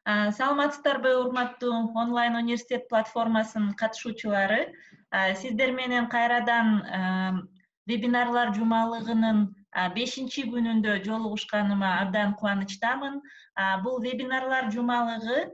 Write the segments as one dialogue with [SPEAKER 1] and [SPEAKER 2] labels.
[SPEAKER 1] Саламатсыздарбы, урматтуу онлайн университет платформасынын катышуучулары. Сиздер менен кайрадан вебинарлар жумалыгынын 5-күнүндө жолугушканыма абдан кубанычтамын. Бул вебинарлар жумалыгы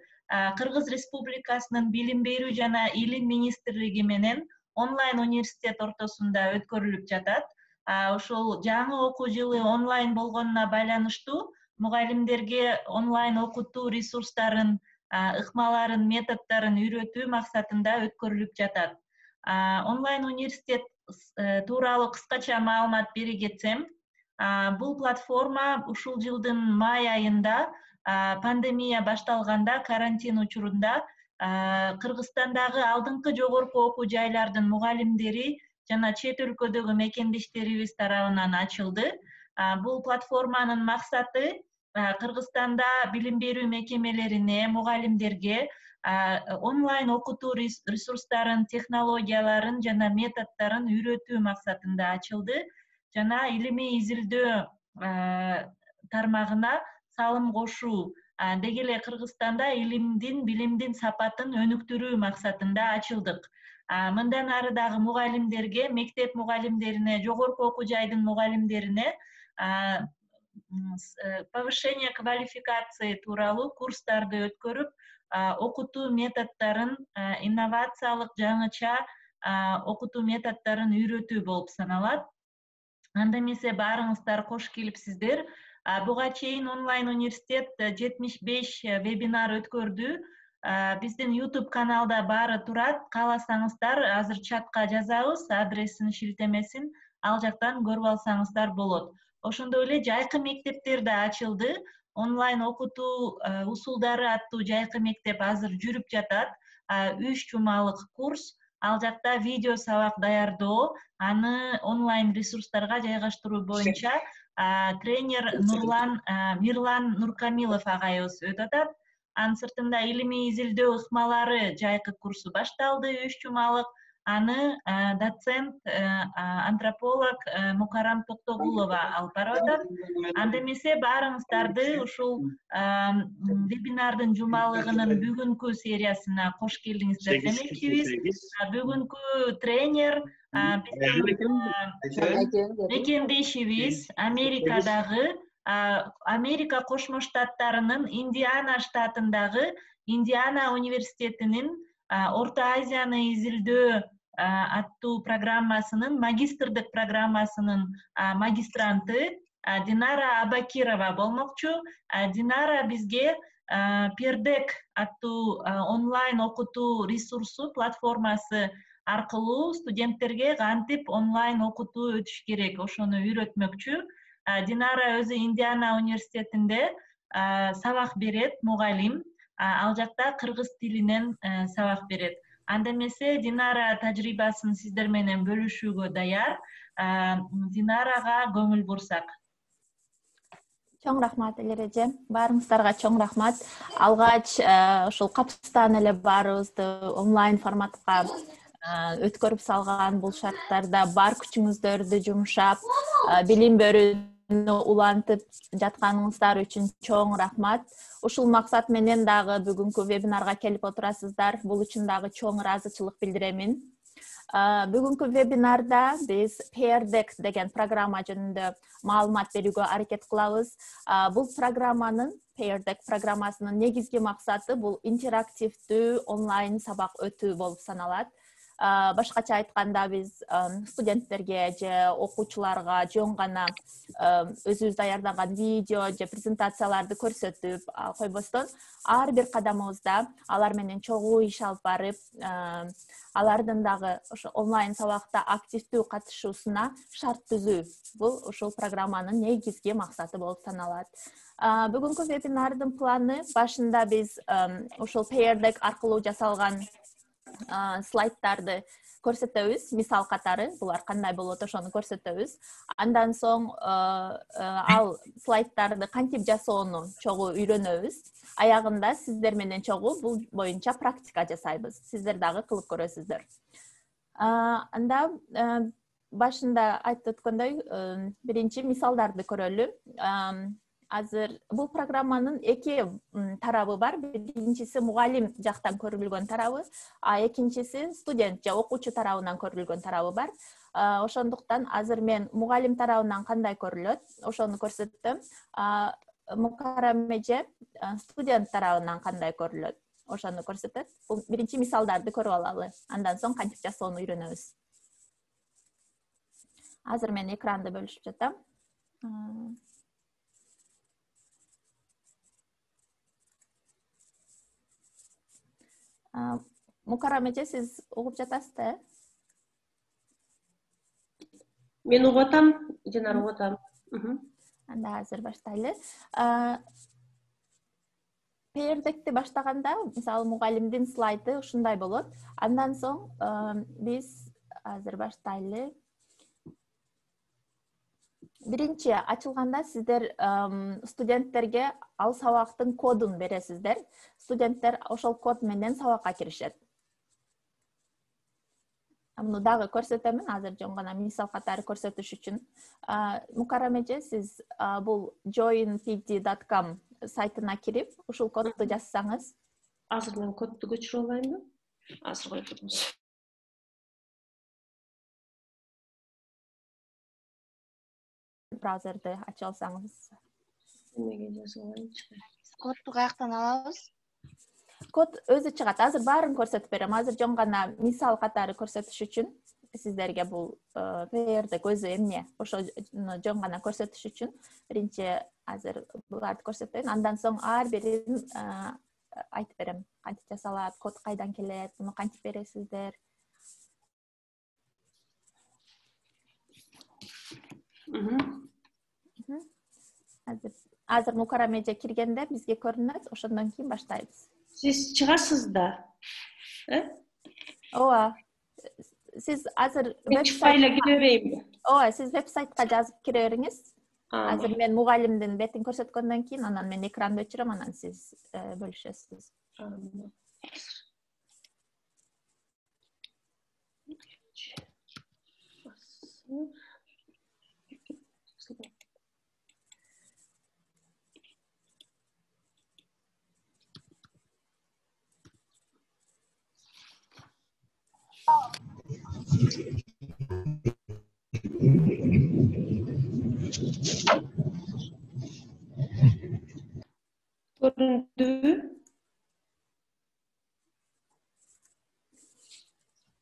[SPEAKER 1] Кыргыз Республикасынын Билим берүү жана Илим министрлиги менен онлайн университет ортосунда өткөрүлүп жатат. Ошол жаңы окуу жылы онлайн болгонуна байланыштуу мугалимдерге онлайн окутуу ресурстарын, ыкмаларын, методдорун үйрөтүү максатында өткөрүлүп жатат. Онлайн университет тууралуу кыскача маалымат бере кетсем, бул платформа ушул жылдын май айында пандемия башталганда карантин учурунда Кыргызстандагы алдыңкы жогорку окуу жайлардын мугалимдери жана чет өлкөдөгү мекендештерибиз тарабынан ачылды. Бул платформанын максаты Кыргызстанда билим берүү мекемелерине, мугалимдерге онлайн окутуу ресурстарын, технологияларын жана методдорун үйрөтүү максатында ачылды. Жана илимий изилдөө тармагына салым кошуу, деги эле Кыргызстанда илимдин, билимдин сапатын өнүктүрүү максатында ачылдык. Мындан ары дагы мугалимдерге, мектеп мугалимдерине, жогорку окуу жайдын мугалимдерине повышение квалификации тууралуу курстарды өткөрүп, окутуу методдорун, инновациялык жаңыча окутуу методдорун үйрөтүү болуп саналат. Анда эмесе баарыңыздар кош келипсиздер. Буга чейин онлайн университет 75 вебинар өткөрдү. Биздин YouTube каналда баары турат. Кааласаңыздар, азыр чатка жазабыз, адресин, шилтемесин, ал жактан көрүп алсаңыздар болот. Ошондой эле жайкы мектептер да ачылды. Онлайн окутуу усулдары аттуу жайкы мектеп азыр жүрүп жатат. 3 жумалык курс. Ал жакта видео сабак даярдоо, аны онлайн ресурстарга жайгаштыруу боюнча тренер Мирлан Нуркамилов агайыбыз өтүп атат. Анын сыртында илимий изилдөө ыкмалары жайкы курсу башталды, 3 жумалык. Аны доцент, антрополог Мукарам Токтогулова алып барып атат. Анда эмесе баарыңыздарды ушул вебинардын жумалыгынын бүгүнкү сериясына кош келдиңиздер демекчибиз. Бүгүнкү тренер биздин мекендешибиз Америкадагы, Америка Кошмо Штаттарынын Индиана штатындагы Индиана университетинин Орто Азияны изилдөө аттуу программасынын, магистрдык программасынын магистранты Динара Абакирова болмокчу. Динара бизге Пердек аттуу онлайн окутуу ресурсу, платформасы аркылуу студенттерге кантип онлайн окутуу өтүш керек, ошону үйрөтмөкчү. Динара өзү Индиана университетинде сабак берет, мугалим. Ал жакта кыргыз тилинен сабак берет. Анда эмесе Динара тажрыйбасын сиздер менен бөлүшүүгө даяр. Динарага көңүл бурсак.
[SPEAKER 2] Чоң рахмат Элереже. Баарыңыздарга чоң рахмат. Алгач ошол капыстан эле баарыбызды онлайн форматка өткөрүп салган, бул шарттарда бар күчүңүздөрдү жумшап, билим берүүнү улантып жатканыңыздар үчүн чоң рахмат. Ушул максат менен дагы бүгүнкү вебинарга келип отурасыздар. Бул үчүн дагы чоң ыраазычылык билдиремин. Бүгүнкү вебинарда биз Пердек деген программа жөнүндө маалымат берүүгө аракет кылабыз. Бул программанын, Пердек программасынын негизги максаты бул интерактивдүү онлайн сабак өтүү болуп саналат. Башкача айтканда биз студенттерге же окуучуларга жөн гана өзүбүз даярдаган видео же презентацияларды көрсөтүп койбостон, ар бир кадамыбызда алар менен чогуу иш алып барып, алардын дагы ошо онлайн сабакта активдүү катышуусуна шарт түзүү. Бул ушул программанын негизги максаты болуп саналат. Бүгүнкү вебинардын планы башында биз ушул Пердек аркылуу жасалган слайдтарды көрсөтөбүз, мисал катары, булар кандай болот ошону көрсөтөбүз. Андан соң ал слайдтарды кантип жасоону чогуу үйрөнөбүз. Аягында сиздер менен чогуу бул боюнча практика жасайбыз. Сиздер дагы кылып көрөсүздөр. Анда башында айтып өткөндөй, биринчи мисалдарды көрөлү. азыр бул программанын эки тарабы бар. Биринчиси мугалим жактан көрүлгөн тарабы, а экинчиси студент же окуучу тарабынан көрүлгөн тарабы бар. Ошондуктан азыр мен мугалим тарабынан кандай көрүлөт, ошону көрсөттүм. Мукаррам эже студент тарабынан кандай көрүлөт, ошону көрсөтөт. Бул биринчи мисалдарды көрүп алалы. Андан соң кантип жасоону үйрөнөбүз. Азыр мен экранды бөлүшүп жатам. Мукаррам эже, сиз угуп жатасызбы?
[SPEAKER 3] Мен угуп атам, Жанар угуп атам.
[SPEAKER 2] Анда азыр баштайлы. Пердекти баштаганда, мисалы мугалимдин слайды ушундай болот. Андан соң биз азыр баштайлы. Биринчи ачылганда сиздер студенттерге ал сабактын кодун бересиздер. Студенттер ошол код менен сабакка киришет. Муну дагы көрсөтөмүн, азыр жөн гана мисал катары көрсөтүш үчүн. Мукаррам эже, сиз бул joinpd.com сайтына кирип, ушул кодду жазсаңыз.
[SPEAKER 3] Азыр мен кодду көчүрүп алайынбы? Азыр койгонбуз.
[SPEAKER 2] Браузерди ачып алсаңыз.
[SPEAKER 3] Эмеге жазып алайынчы?
[SPEAKER 4] Кодду каяктан алабыз?
[SPEAKER 2] Код өзү чыгат. Азыр баарын көрсөтүп берем. Азыр жөн гана мисал катары көрсөтүш үчүн сиздерге бул пердек өзү эмне, ошону жөн гана көрсөтүш үчүн биринчи азыр буларды көрсөтөйүн. Андан соң ар бирин айтып берем. Кантип жасалат, код кайдан келет, муну кантип бересиздер. Азыр Мукаррам эже киргенде бизге көрүнөт, ошондон кийин баштайбыз.
[SPEAKER 3] Сиз чыгасыз да?
[SPEAKER 2] Ооба. Сиз азыр
[SPEAKER 3] веб-сайтка кире берейинби?
[SPEAKER 2] Ооба, сиз веб-сайтка жазып кире бериңиз. Азыр мен мугалимдин бетин көрсөткөндөн кийин анан мен экранды өчүрөм, анан сиз бөлүшөсүз.
[SPEAKER 3] Көрүндүбү?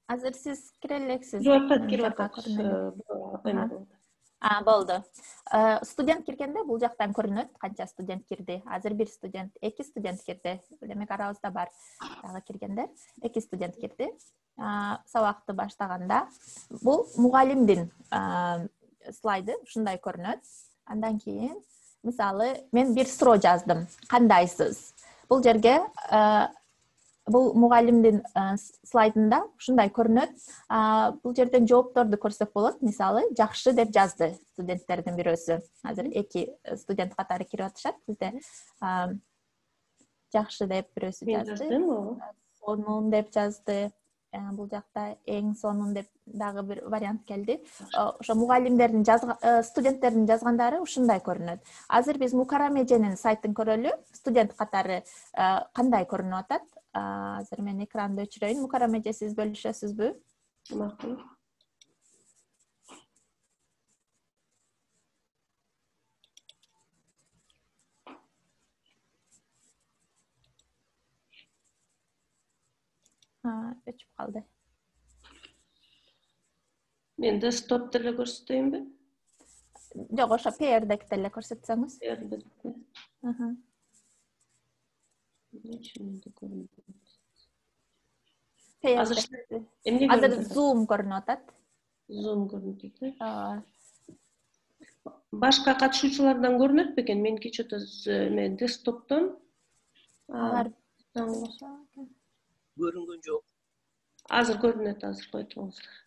[SPEAKER 2] Азыр сиз кире элексиз.
[SPEAKER 3] Кирип атат.
[SPEAKER 2] Болду. Студент киргенде бул жактан көрүнөт, канча студент кирди. Азыр бир студент, эки студент кирди. Демек арабызда бар дагы киргендер. Эки студент кирди. Сабакты баштаганда бул мугалимдин слайды ушундай көрүнөт. Андан кийин, мисалы, мен бир суроо жаздым. Кандайсыз? Бул жерге бул мугалимдин слайдында ушундай көрүнөт. Бул жерден жоопторду көрсөк болот. Мисалы, жакшы деп жазды студенттердин бирөөсү. Азыр эки студент катары кирип атышат бизде. Жакшы деп бирөөсү жазды. Сонун деп жазды. Бул жакта эң сонун деп дагы бир вариант келди. Ошо мугалимдердин студенттердин жазгандары ушундай көрүнөт. Азыр биз Мукаррам эженин сайтын көрөлү. Студент катары кандай көрүнүп атат? Азыр мен экранды өчүрөйүн. Мукаррам эже, сиз бөлүшөсүзбү?
[SPEAKER 3] Макул.
[SPEAKER 2] Өчүп калды.
[SPEAKER 3] Мен десктоп деле көрсөтөйүнбү?
[SPEAKER 2] Жок, ошо пердекти эле көрсөтсөңүз. Азыр зум көрүнүп атат.
[SPEAKER 3] Зум көрүнүп атат. Башка катышуучулардан көрүнөт бекен? Меники что-то мен десктоптон
[SPEAKER 5] көрүнгөн жок.
[SPEAKER 3] Азыр көрүнөт, азыр койтуңуздар.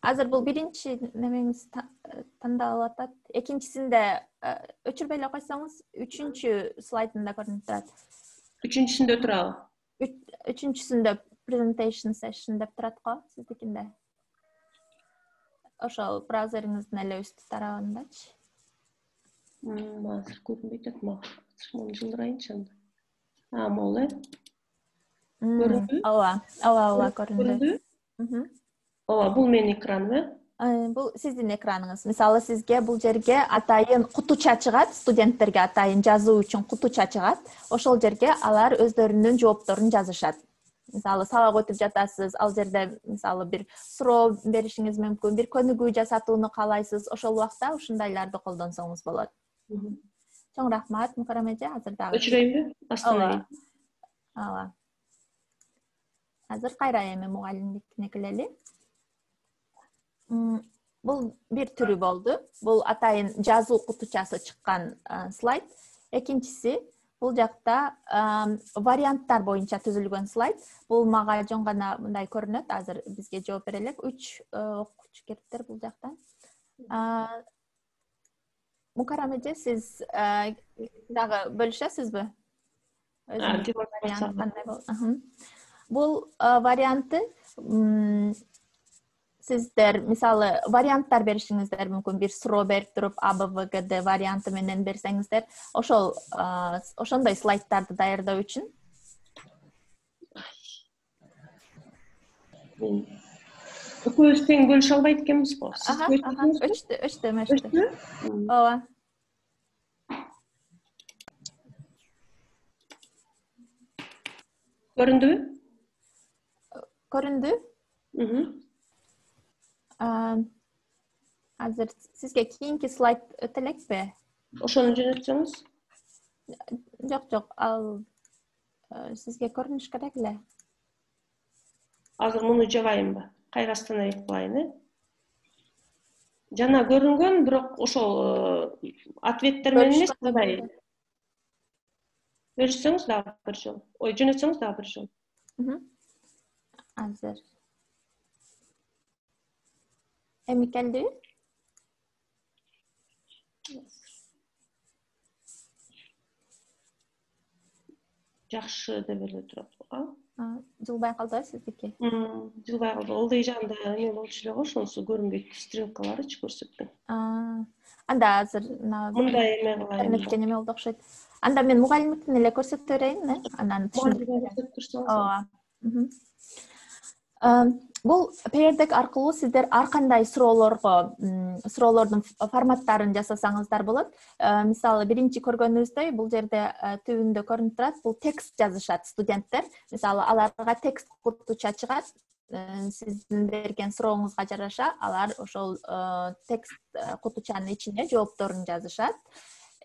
[SPEAKER 2] Азыр бул биринчи немеңиз тандалып атат. Экинчисинде өчүрбөй эле койсоңуз, үчүнчү слайдында көрүнүп турат.
[SPEAKER 3] Үчүнчүсүндө турабы?
[SPEAKER 2] Үчүнчүсүндө presentation session деп турат го, сиздикинде. Ошол браузериңиздин эле үстү тарабындачы.
[SPEAKER 3] Азыр көрүнбөйт атат мага. Муну жылдырайынчы анда. Могул көрүндүбү?
[SPEAKER 2] Ооба, көрүндү.
[SPEAKER 3] Ооба, бул менин экраным,
[SPEAKER 2] Бул сиздин экраныңыз. Мисалы сизге бул жерге атайын кутуча чыгат, студенттерге атайын жазуу үчүн кутуча чыгат. Ошол жерге алар өздөрүнүн жоопторун жазышат. Мисалы сабак өтүп жатасыз, ал жерде мисалы бир суроо беришиңиз мүмкүн, бир көнүгүү жасатууну каалайсыз, ошол убакта ушундайларды колдонсоңуз болот. Чоң рахмат, Мукарам эже. Азыр дагы
[SPEAKER 3] өчүрөйүнбү? Остановить.
[SPEAKER 2] ооба. Азыр кайра эми мугалимдикине келели. Бул бир түрү болду. Бул атайын жазуу кутучасы чыккан слайд. Экинчиси бул жакта варианттар боюнча түзүлгөн слайд. Бул мага жөн гана мындай көрүнөт. Азыр бизге жооп бере элек. 3 окуучу келиптир бул жактан. Мукарам эже, сиз дагы бөлүшөсүзбү? Бул варианты сиздер мисалы варианттар беришиңиздер мүмкүн. Бир суроо берип туруп АБВГД варианты менен берсеңиздер, ошондой слайдтарды даярдоо үчүн
[SPEAKER 3] Экөөбүз тең бөлүшө албайт экенбизго.
[SPEAKER 2] Өчтү. Ооба.
[SPEAKER 3] Көрүндүбү?
[SPEAKER 2] Көрүндү. Азыр сизге кийинки слайд өтө элекпи?
[SPEAKER 3] Ошону жөнөтсөңүз.
[SPEAKER 2] Жок, ал сизге көрүнүш керек эле.
[SPEAKER 3] Азыр муну жабайынбы? Кайра остановить кылайын, Жана көрүнгөн, бирок ошол ответтер менен эмес, мындай. Беришсеңиз дагы бир жолу. Жөнөтсөңүз дагы бир жолу.
[SPEAKER 2] Азыр. Эми келди?
[SPEAKER 3] Жакшы деп эле турат.
[SPEAKER 2] Жылбай калдыбы сиздики?
[SPEAKER 3] Жылбай калды. Ылдый жагында эме болчу эле го, ошонусу көрүнбөйт, стрелкаларычы көрсөтпөйт.
[SPEAKER 2] Анда азыр
[SPEAKER 3] мындай эме кылайын.
[SPEAKER 2] Интернетке неме болду окшойт. Анда мен мугалимдиктин эле көрсөтө берейин, анан түшүндүрөм. Бул пердек аркылуу сиздер ар кандай суроолордун форматтарын жасасаңыздар болот. Мисалы биринчи көргөнүбүздөй бул жерде түбүндө көрүнүп турат, бул текст жазышат студенттер. Мисалы аларга текст кутуча чыгат. Сиздин берген сурооңузга жараша алар ошол текст кутучанын ичине жоопторун жазышат.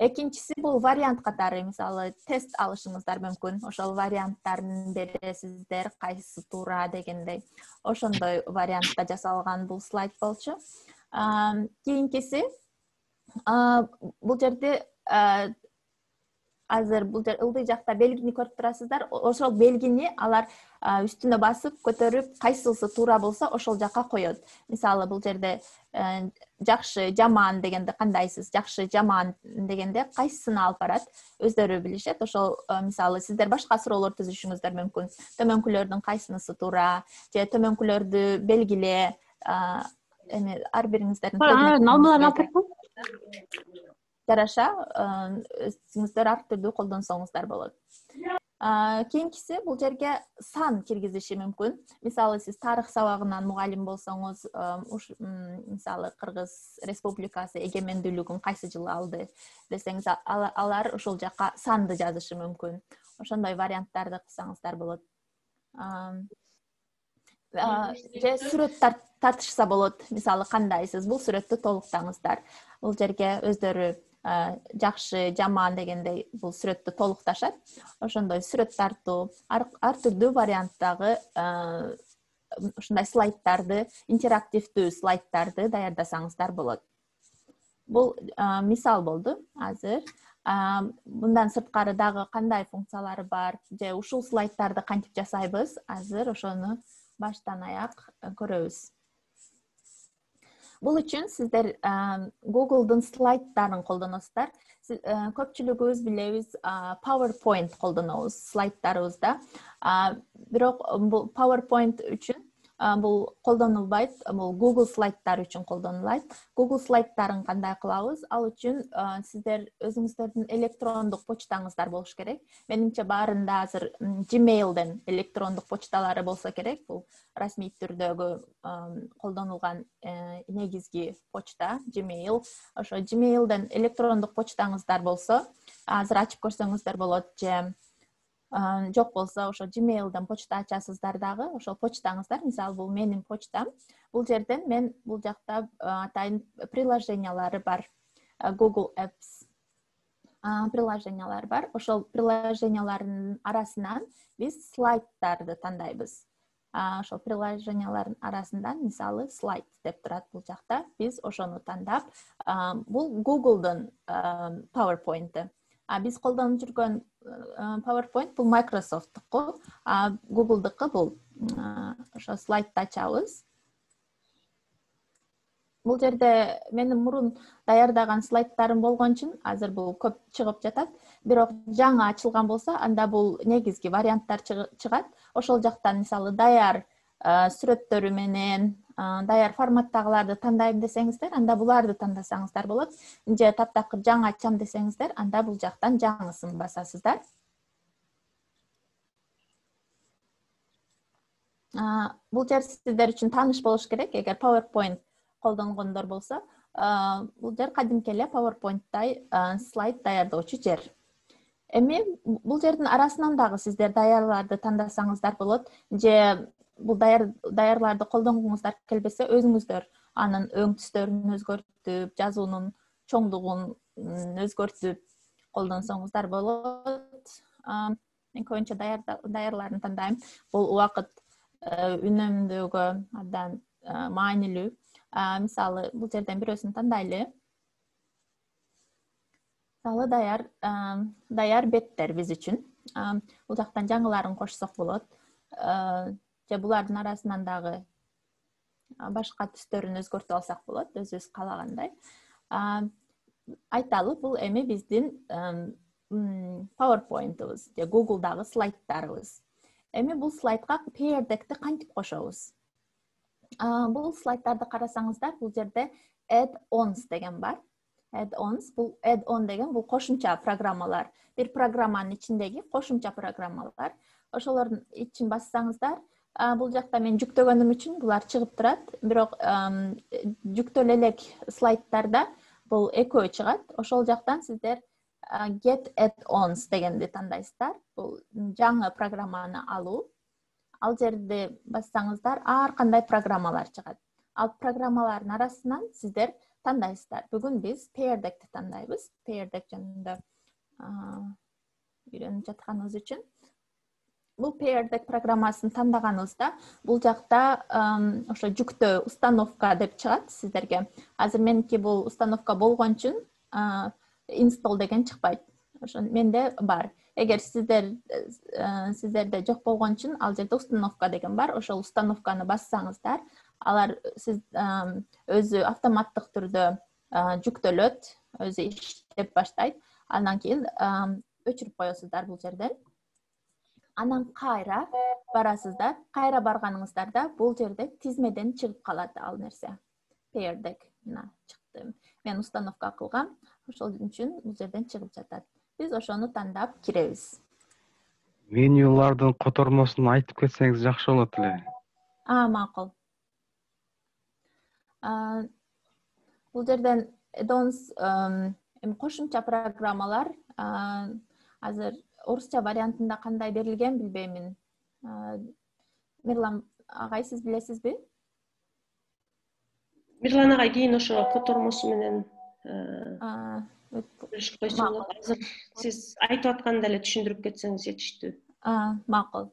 [SPEAKER 2] Экинчиси бул вариант катары, мисалы тест алышыңыздар мүмкүн. Ошол варианттарын бересиздер, кайсысы туура дегендей. Ошондой вариантта жасалган бул слайд болчу. Кийинкиси бул жерде азыр бул жер ылдый жакта белгини көрүп турасыздар. Ошол белгини алар үстүнө басып, көтөрүп, кайсысы туура болсо ошол жака коёт. Мисалы бул жерде жакшы, жаман дегенде кандайсыз, жакшы, жаман дегенде кайсысын алып барат, өздөрү билишет. Ошол мисалы сиздер башка суроолор түзүшүңүздөр мүмкүн. Төмөнкүлөрдүн кайсынысы туура, же төмөнкүлөрдү белгиле, эми ар бириңиздердин жараша өзүңүздөр ар түрдүү колдонсоңуздар болот. Кийинкиси бул жерге сан киргизиши мүмкүн. Мисалы сиз тарых сабагынан мугалим болсоңуз, мисалы Кыргыз Республикасы эгемендүүлүгүн кайсы жылы алды десеңиз, алар ошол жака санды жазышы мүмкүн. Ошондой варианттарды кылсаңыздар болот. Же сүрөт тартышса болот. Мисалы кандайсыз, бул сүрөттү толуктаңыздар. Бул жерге өздөрү жакшы, жаман дегендей бул сүрөттү толукташат. Ошондой сүрөт тартуу, ар түрдүү варианттагы ушундай слайдтарды, интерактивдүү слайдтарды даярдасаңыздар болот. Бул мисал болду азыр. Мындан сырткары дагы кандай функциялары бар, же ушул слайдтарды кантип жасайбыз, азыр ошону баштан аяк көрөбүз. Бул үчүн сиздер Google'дун слайдтарын колдоносуздар. Көпчүлүгүбүз билебиз, PowerPoint колдонобуз слайдтарыбызда. Бирок бул PowerPoint үчүн бул колдонулбайт. Бул Google слайдтар үчүн колдонулат. Google слайдтарын кандай кылабыз? Ал үчүн сиздер өзүңүздөрдүн электрондук почтаңыздар болуш керек. Менимче баарында азыр Gmail'ден электрондук почталары болсо керек. Бул расмий түрдөгү колдонулган негизги почта Gmail. Ошо Gmail'ден электрондук почтаңыздар болсо, азыр ачып көрсөңүздөр болот же жок болсо ошо Gmail'ден почта ачасыздар дагы. Ошол почтаңыздар, мисалы бул менин почтам. Бул жерден мен бул жакта атайын приложениялары бар. Google Apps приложениялары бар. Ошол приложениялардын арасынан биз слайдтарды тандайбыз. Ошол приложениялардын арасынан мисалы слайд деп турат бул жакта. Биз ошону тандап, бул Google'дун PowerPoint'ы. Биз колдонуп жүргөн PowerPoint бул Microsoft'туку, Google'дыкы бул ошо слайдты ачабыз. Бул жерде менин мурун даярдаган слайдтарым болгон үчүн азыр бул көп чыгып жатат. Бирок жаңы ачылган болсо, анда бул негизги варианттар чыгат. Ошол жактан мисалы даяр сүрөттөрү менен, даяр форматтагыларды тандайм десеңиздер, анда буларды тандасаңыздар болот. Же таптакыр жаңы ачам десеңиздер, анда бул жактан жаңысын басасыздар. Бул жер сиздер үчүн тааныш болуш керек. Эгер PowerPoint колдонгондор болсо, бул жер кадимки эле PowerPoint'тай слайд даярдоочу жер. Эми бул жердин арасынан дагы сиздер даярларды тандасаңыздар болот. Же бул даярларды колдонгуңуздар келбесе, өзүңүздөр анын өң түстөрүн өзгөртүп, жазуунун чоңдугун өзгөртүп колдонсоңуздар болот. Мен көбүнчө даярларын тандайм. Бул убакыт үнөмдөгө абдан маанилүү. Мисалы, бул жерден бирөөсүн тандайлы. Мисалы, даяр беттер биз үчүн. Бул жактан жаңыларын кошсок болот. Же булардын арасынан дагы башка түстөрүн өзгөртүп алсак болот, өзүбүз каалагандай. Айталы, бул эми биздин PowerPoint'ыбыз же Google'дагы слайдтарыбыз. Эми бул слайдка Pear Deck'ти кантип кошобуз? Бул слайдтарды карасаңыздар, бул жерде add-ons деген бар. Add-ons, бул add-on деген бул кошумча программалар. Бир программанын ичиндеги кошумча программалар. Ошолордун ичин бассаңыздар, бул жакта мен жүктөгөнүм үчүн булар чыгып турат. Бирок жүктөлө элек слайдтарда бул экөө чыгат. Ошол жактан сиздер get add-ons дегенди тандайсыздар. Бул жаңы программаны алуу. Ал жерди бассаңыздар, ар кандай программалар чыгат. Ал программалардын арасынан сиздер тандайсыздар. Бүгүн биз Pear Deck'ти тандайбыз. Pear Deck жөнүндө үйрөнүп жатканыбыз үчүн. Бул Pear Deck программасын тандаганыбызда, бул жакта ошо жүктөө установка деп чыгат сиздерге. Азыр меники бул установка болгон үчүн install деген чыкпайт. Ошо менде бар. Эгер сиздерде жок болгон үчүн ал жерде установка деген бар. Ошол установканы бассаңыздар, алар сиз өзү автоматтык түрдө жүктөлөт, өзү иштеп баштайт. Андан кийин өчүрүп коесуздар бул жерден. Анан кайра барасыздар. Кайра барганыңыздарда бул жерде тизмеден чыгып калат ал нерсе. Pear Deck чыкты. Мен установка кылгам. Ошол үчүн бул жерден чыгып жатат. Биз ошону тандап киребиз.
[SPEAKER 6] Менюлардын котормосун айтып кетсеңиз жакшы болот эле.
[SPEAKER 2] Макул. Бул жерден add-ons кошумча программалар азыр орусча вариантында кандай берилген билбеймин. Мирлан агай, сиз билесизби?
[SPEAKER 3] Мирлан агай кийин ошо котормосу менен көрүшүп койсо болот. Азыр сиз айтып атканда эле түшүндүрүп кетсеңиз жетиштүү.
[SPEAKER 2] Макул.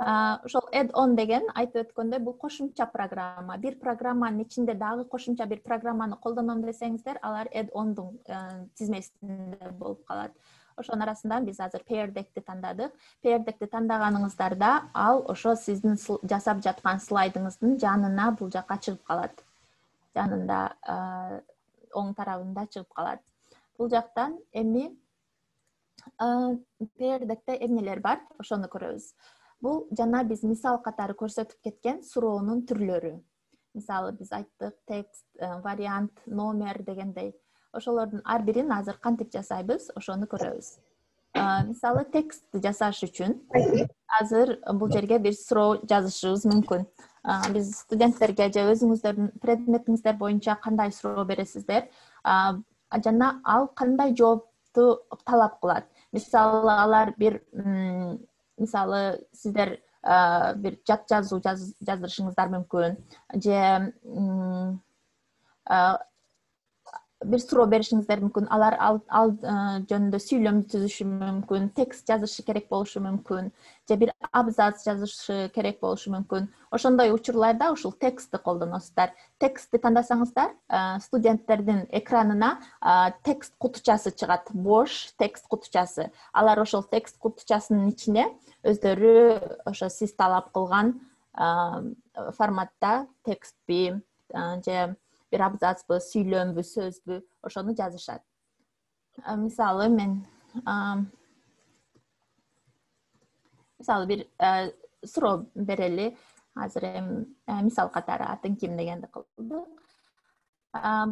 [SPEAKER 2] Ошол add-on деген айтып өткөндөй бул кошумча программа. Бир программанын ичинде дагы кошумча бир программаны колдоном десеңиздер, алар add-ondун тизмесинде болуп калат. Ошонун арасынан биз азыр Pear Deck'ти тандадык. Pear Deck'ти тандаганыңыздарда ал ошо сиздин жасап жаткан слайдыңыздын жанына бул жака чыгып калат. Жанында оң тарабында чыгып калат. Бул жактан эми Pear Deck'те эмнелер бар, ошону көрөбүз. Бул жана биз мисал катары көрсөтүп кеткен суроонун түрлөрү. Мисалы биз айттык текст, вариант, номер дегендей. Ошолордун ар бирин азыр кантип жасайбыз, ошону көрөбүз. Мисалы текстти жасаш үчүн азыр бул жерге бир суроо жазышыбыз мүмкүн. Биз студенттерге же өзүңүздөрдүн предметиңиздер боюнча кандай суроо бересиздер, жана ал кандай жоопту талап кылат. Мисалы алар мисалы сиздер бир жат жазуу жаздырышыңыздар мүмкүн, же бир суроо беришиңиздер мүмкүн. Алар ал жөнүндө сүйлөм түзүшү мүмкүн, текст жазышы керек болушу мүмкүн, же бир абзац жазышы керек болушу мүмкүн. Ошондой учурларда ушул текстти колдоносуздар. Текстти тандасаңыздар, студенттердин экранына текст кутучасы чыгат, бош текст кутучасы. Алар ошол текст кутучасынын ичине өздөрү ошо сиз талап кылган форматта текстпи же бир абзацпы, сүйлөмбү, сөзбү, ошону жазышат. Мисалы мен бир суроо берели. Азыр мисал катары атын ким дегенди кылдык.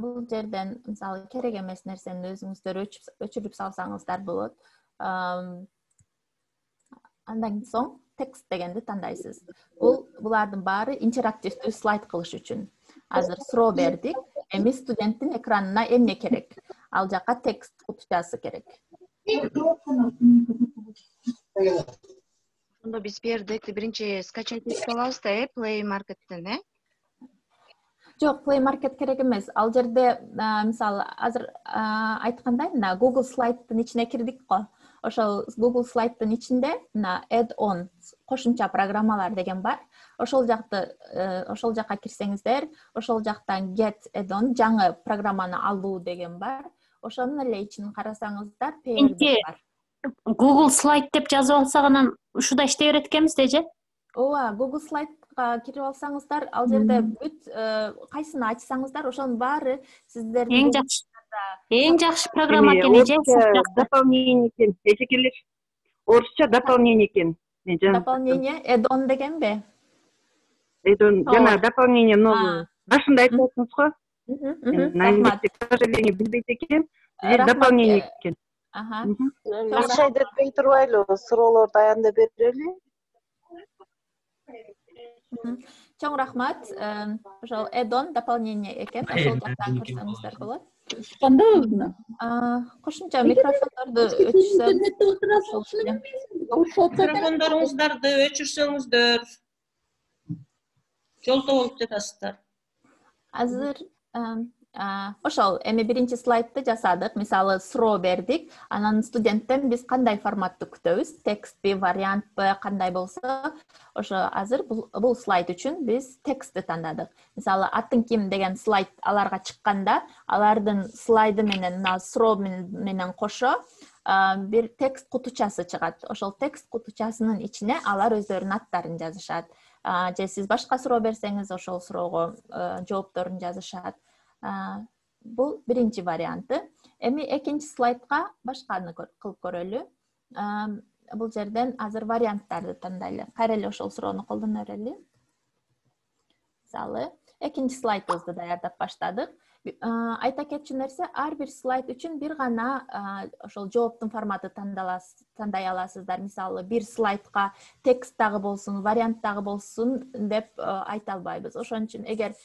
[SPEAKER 2] Бул жерден мисалы керек эмес нерсени өзүңүздөр өчүрүп салсаңыздар болот. Андан соң текст дегенди тандайсыз. Булардын баары интерактивдүү слайд кылыш үчүн. Азыр суроо бердик. Эми студенттин экранына эмне керек? Ал жака текст кутучасы керек.
[SPEAKER 4] Ошондо биз бердик, биринчи скачать этип алабыз да, Play Market'тен,
[SPEAKER 2] Жок, Play Market керек эмес. Ал жерде мисалы азыр айткандай, мына Google Slide'дын ичине кирдик го. Ошол Google Slide'дын ичинде мына add-on кошумча программалар деген бар. Ошол жакка кирсеңиздер, ошол жактан get add-on жаңы программаны алуу деген бар. Ошонун эле ичин карасаңыздар, pair бар.
[SPEAKER 7] Google Slide деп жазып алсак анан ушуда иштей берет экенбиз же?
[SPEAKER 2] Ооба, Google Slide'га кирип алсаңыздар, ал жерде бүт кайсыны ачсаңыздар, ошонун баары сиздердин
[SPEAKER 7] Эң жакшы программа экен же?
[SPEAKER 8] Дополнение экен. Эжекелер орусча дополнение экен.
[SPEAKER 2] Дополнение add-on дегенби?
[SPEAKER 8] Add-on жана дополнение новый. Башында айтып атсыңыз го. К сожалению, билбейт экен. Дополнение экен.
[SPEAKER 9] Акча айдатпай турбайлы, суроолорду аянда берели.
[SPEAKER 2] Чоң рахмат. Ошол add-on дополнение экен. Ошол жактан көрсөңүздөр болот. Кошумча микрофондорду
[SPEAKER 3] Микрофондоруңуздарды өчүрсөңүздөр жолто болуп жатасыздар.
[SPEAKER 2] Азыр ошол эми биринчи слайдты жасадык. Мисалы суроо бердик. Анан студенттен биз кандай форматты күтөбүз? Текстпи, вариантпы, кандай болсо, ошо азыр бул слайд үчүн биз текстти тандадык. Мисалы атын ким деген слайд аларга чыкканда, алардын слайды менен суроо менен кошо бир текст кутучасы чыгат. Ошол текст кутучасынын ичине алар өздөрүнүн аттарын жазышат. Же сиз башка суроо берсеңиз, ошол суроого жоопторун жазышат. Бул биринчи варианты. Эми экинчи слайдка башканы кылып көрөлү. Бул жерден азыр варианттарды тандайлы. Кайра эле ошол суроону колдоно берели. Мисалы, экинчи слайдыбызды даярдап баштадык. Айта кетчү нерсе, ар бир слайд үчүн бир гана ошол жооптун форматы тандай аласыздар. Мисалы, бир слайдка текст дагы болсун, вариант дагы болсун деп айта албайбыз. Ошон үчүн эгер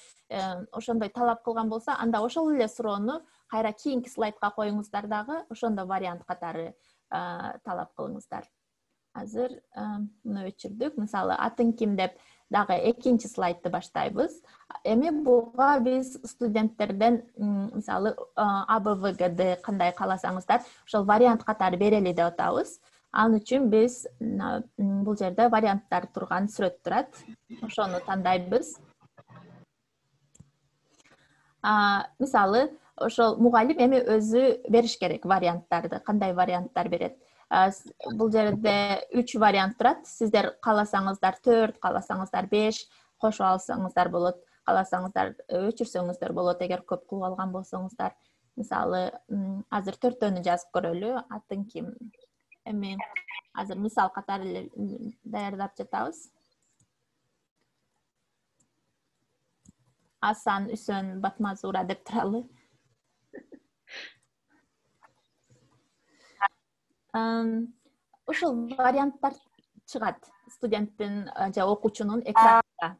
[SPEAKER 2] ошондой талап кылган болсо, анда ошол эле суроону кайра кийинки слайдка коюңуздар дагы, ошондо вариант катары талап кылыңыздар. Азыр муну өчүрдүк. Мисалы, атын ким деп дагы экинчи слайдты баштайбыз. Эми буга биз студенттерден мисалы ABVGD кандай кааласаңыздар, ошол вариант катары берели деп атабыз. Ал үчүн биз бул жерде варианттар турган сүрөт турат. Ошону тандайбыз. Мисалы, ошол мугалим эми өзү бериш керек варианттарды, кандай варианттар берет. Бул жерде 3 вариант турат. Сиздер кааласаңыздар 4, кааласаңыздар 5 кошуп алсаңыздар болот. Кааласаңыздар өчүрсөңүздөр болот, эгер көп кылып алган болсоңуздар. Мисалы, азыр 4төнү жазып көрөлү. Атын ким? Эми азыр мисал катары эле даярдап жатабыз. Асан Үсөн Батмазура деп туралы. Ушул варианттар чыгат студенттин же окуучунун экранында.